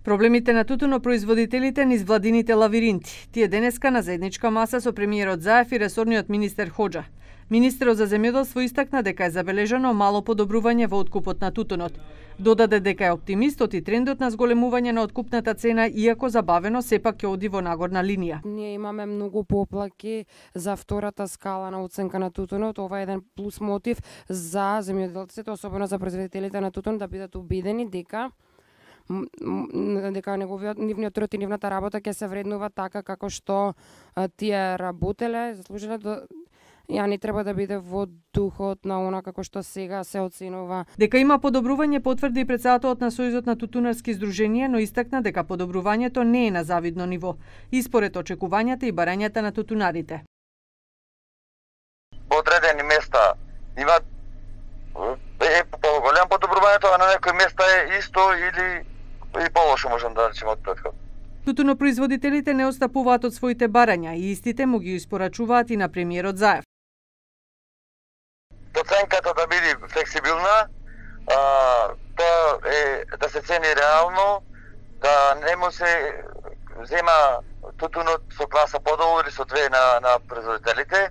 Проблемите на тутунопроизводителите низ владините лавиринти. Тие денеска на заедничка маса со премиерот Заев и ресорниот министер Хоџа. Министерот за земјоделство истакна дека е забележано мало подобрување во откупот на тутунот. Додаде дека е оптимист и трендот на зголемување на откупната цена, иако забавено, сепак ќе оди во нагорна линија. Ние имаме многу поплаки за втората скала на оценка на тутунот. Ова е еден плюс мотив за земјоделците, особено за производителите на тутун, да бидат убедени дека нивниот труд и нивната работа ќе се вреднува така како што тие работеле, заслужиле ја не треба да биде во духот на она како што сега се оценува. Дека има подобрување потврди и претседателот на Сојузот на тутунарски здруженија, но истакна дека подобрувањето не е на завидно ниво и според очекувањата и барањата на тутунарите. По одредени места има поголем подобрувањето, а на некои места е исто или и полошо, можам да речем, од претходно. Тутунопроизводителите не отстапуваат од своите барања и истите му ги испорачуваат и на премиерот Заев. Оценката да биде флексибилна, тоа е да се цени реално, да не му се зема тутунот со класа подолу или со две на производителите.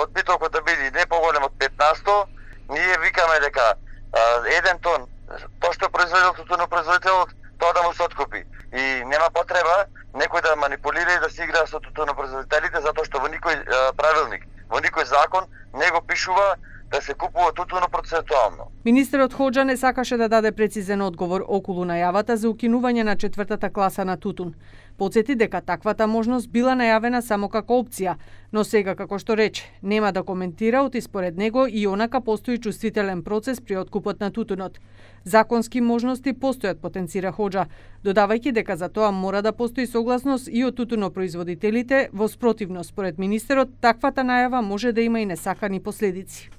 Одбитокот да биде не поголем од 15%. Ние викаме дека еден тон, тоа што произведел тутунопроизводителот, тоа да му се откупи. И нема потреба некој да манипулира и да си игра со тутунопроизводителите, затоа што во никој правилник, во никој закон не го пишува да се купува тутуно процентуално. Министерот Хоџа не сакаше да даде прецизен одговор околу најавата за укинување на четвртата класа на тутун. Потсети дека таквата можност била најавена само како опција, но сега, како што рече, нема да коментира, оти според него и онака постои чувствителен процес при откупот на тутунот. Законски можности постојат, потенцира Хоџа, додавајќи дека за тоа мора да постои согласност и од тутунопроизводителите, во спротивно, според министерот, таквата најава може да има и несакани последици.